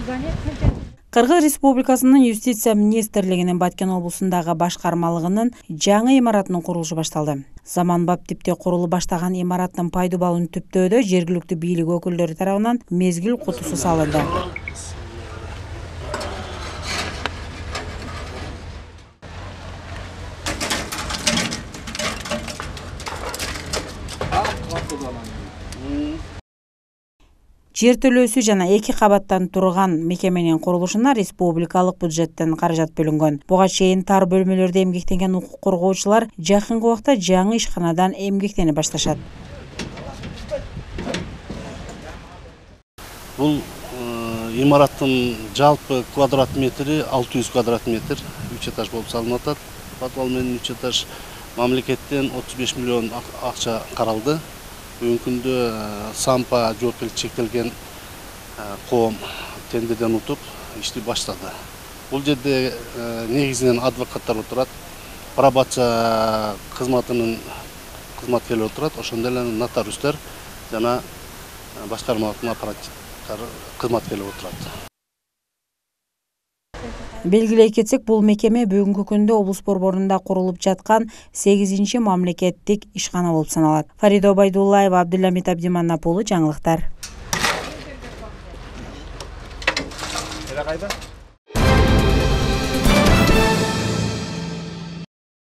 Кыргыз Республикасынын Юстиция министрлигинин Баткен облусундагы башкармалыгынын жаңы имаратынын курулушу башталды. Заманбап типте курулуп баштаган имараттын пайдуу балын түптөөдө жергиликтүү бийлик өкүлдөрү тарабынан мезгил кутусу салынды. Жер төлөөсү жана 2 кабаттан турган мекеменин курулушуна республикалык бюджеттен каражат бөлүнгөн. Буга чейин тар бөлмөлөрдө эмгектенген укук коргоочулар жакынкы убакта жаңы ишканадан эмгектене башташат. Бул имараттын жалпы квадрат метри 600 квадрат метр, 3 этаж болуп салынып атат. Подвал менен 3 этаж. Мамлекеттен 35 миллион акча каралды. Бүгүнкү күндө сампа жоопкерчилиги чектелген коом тендерден утуп ишти баштады. Бул жерде негизинен адвокаттар отурат, пробация кызматынын кызматкерлери отурат, ошондой эле нотариустар жана башкармалыктын аппараттар кызматкерлери отурат. Белгилей кетсек, бул мекеме бүгүнкү күндө облус борборунда курулуп жаткан 8-чи мамлекеттик ишкана болуп саналат. Фарида Байдуллаева, Абдулламит Абдиманапулу, жаңылыктар.